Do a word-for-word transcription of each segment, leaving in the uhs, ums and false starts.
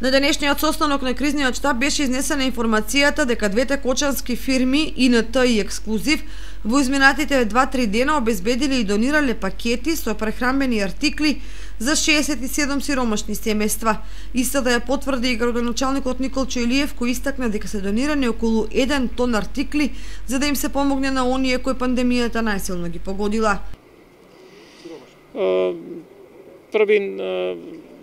На денешниот состанок на кризниот штаб беше изнесена информацијата дека двете кочански фирми И Н Т и Ексклузив во изминатите два-три дена обезбедиле и донирале пакети со прехранбени артикли за шеесет и седум сиромашни семејства. Истата ја потврди и градоначалникот Николчо Илиев, кој истакна дека се донирани околу еден тон артикли за да им се помогне на оние кои пандемијата најсилно ги погодила. Први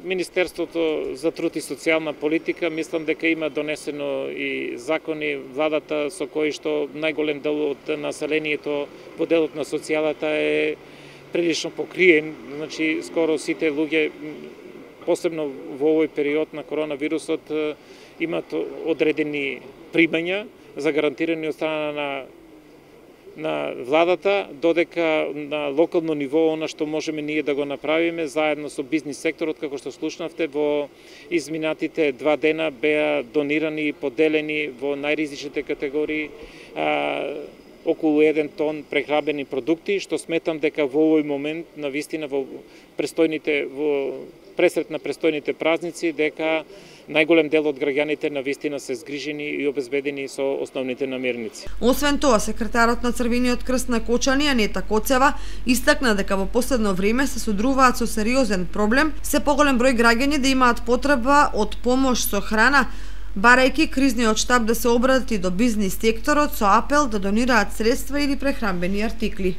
Министерството за труд и социјална политика, мислам дека има донесено и закони владата со кои што најголем дел од населението во делот на социјалата е прилично покриен, значи скоро сите луѓе, посебно во овој период на коронавирусот, имат одредени примања загарантирани од страна на на владата, додека на локално ниво она што можеме ние да го направиме заедно со бизнис секторот, како што слушнавте, во изминатите два дена беа донирани и поделени во најризичните категории а, околу еден тон прехрабени продукти, што сметам дека во овој момент на вистина во престојните во пресрет на престојните празници дека најголем дел од граѓаните на вистина се згрижени и обезбедени со основните намирници. Освен тоа, секретарот на Црвениот крст на Кочани, Анета Коцева, истакна дека во последно време се содруваат со сериозен проблем, се поголем број граѓани да имаат потреба од помош со храна, барајќи кризниот штаб да се обрати до бизнис секторот со апел да донираат средства или прехранбени артикли.